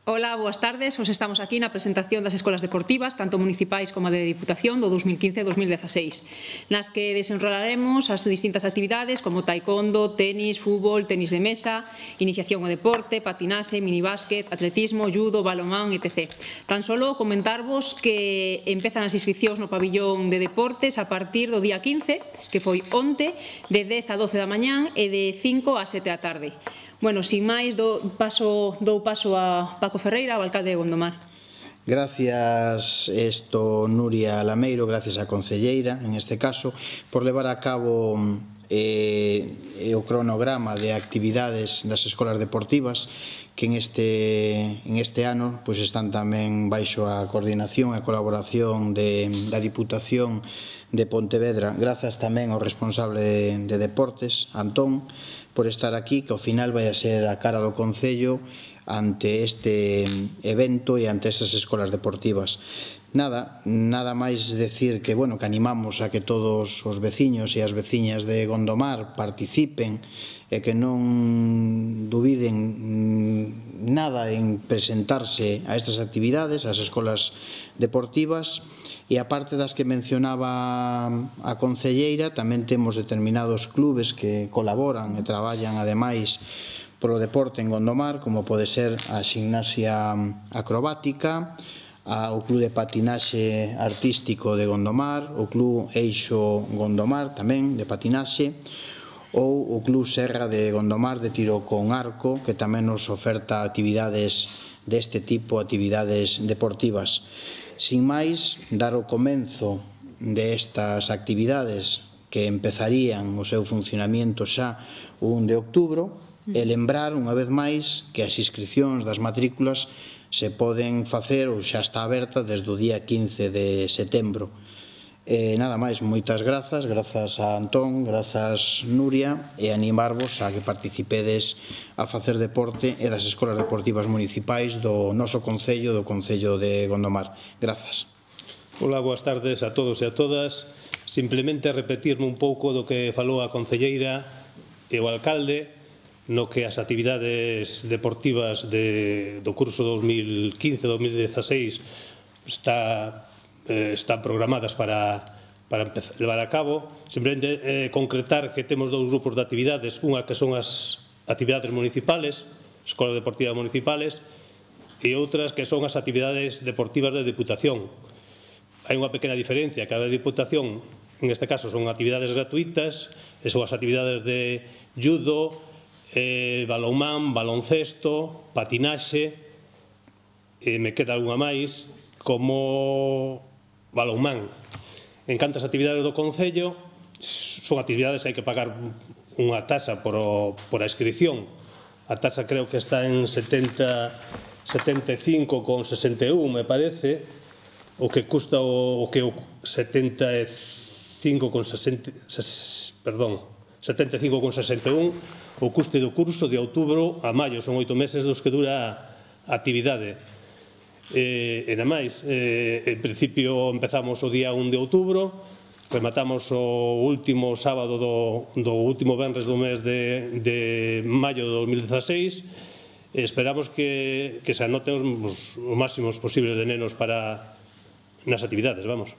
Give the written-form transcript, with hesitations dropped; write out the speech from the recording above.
Ola, boas tardes. Hoxe estamos aquí na presentación das escolas deportivas, tanto municipais como a de Diputación, do 2015 e 2016, nas que desenrolaremos as distintas actividades como taekwondo, tenis, fútbol, tenis de mesa, iniciación ao deporte, patinaxe, minibásquet, atletismo, judo, balonmán, etc. Tan solo comentarvos que empezan as inscripcións no pabillón de deportes a partir do día 15, que foi onte, de 10 a 12 da mañán e de 5 a 7 da tarde. Bueno, sin máis, dou paso a Paco Ferreira, o alcalde de Gondomar. Gracias, Nuria Lameiro, gracias á concelleira, en este caso, por levar a cabo o cronograma de actividades das escolas deportivas que en este ano están tamén baixo a coordinación e a colaboración da Diputación de Pontevedra. Grazas tamén ao responsable de deportes, Antón, por estar aquí, que ao final vai a ser a cara do Concello ante este evento e ante esas escolas deportivas. Nada máis decir que animamos a que todos os veciños e as veciñas de Gondomar participen e que non dubiden nada en presentarse a estas actividades, ás escolas deportivas. E aparte das que mencionaba a concelleira, tamén temos determinados clubes que colaboran e traballan ademais polo deporte en Gondomar, como pode ser a Ximnasia Acrobática, o Club de Patinaxe Artístico de Gondomar, o Club Eixo Gondomar tamén de patinaxe, ou o Club Serra de Gondomar de tiro con arco, que tamén nos oferta actividades deste tipo, actividades deportivas. Sin máis, dar o comenzo destas actividades que empezarían o seu funcionamento xa o 1 de outubro e lembrar unha vez máis que as inscripcións das matrículas se poden facer ou xa está aberta desde o día 15 de setembro. Nada máis, moitas grazas a Antón, grazas Nuria, e animarvos a que participedes a facer deporte e das escolas deportivas municipais do noso Concello, do Concello de Gondomar. Grazas. Ola, boas tardes a todos e a todas. Simplemente repetirme un pouco do que falou a concelleira e o alcalde, no que as actividades deportivas do curso 2015-2016 están programadas para levar a cabo. Simplemente concretar que temos dous grupos de actividades, unha que son as actividades municipales, escolas deportivas municipales, e outras que son as actividades deportivas de Diputación. Hai unha pequena diferencia, que a de Diputación, en este caso, son actividades gratuitas, e son as actividades de judo, balonmán, baloncesto, patinaxe, me queda algunha máis, como balonmán. En canto ás actividades do Concello, son actividades que hai que pagar unha taxa por a inscripción. A taxa creo que está en 75,61, me parece, o que custa o que 75,61 o custe do curso de outubro a maio. Son 8 meses dos que dura a actividade. E nada máis, en principio empezamos o día 1 de outubro, rematamos o último sábado do último venres do mes de maio de 2016. Esperamos que se anoten os máximos posibles de nenos nas actividades, vamos.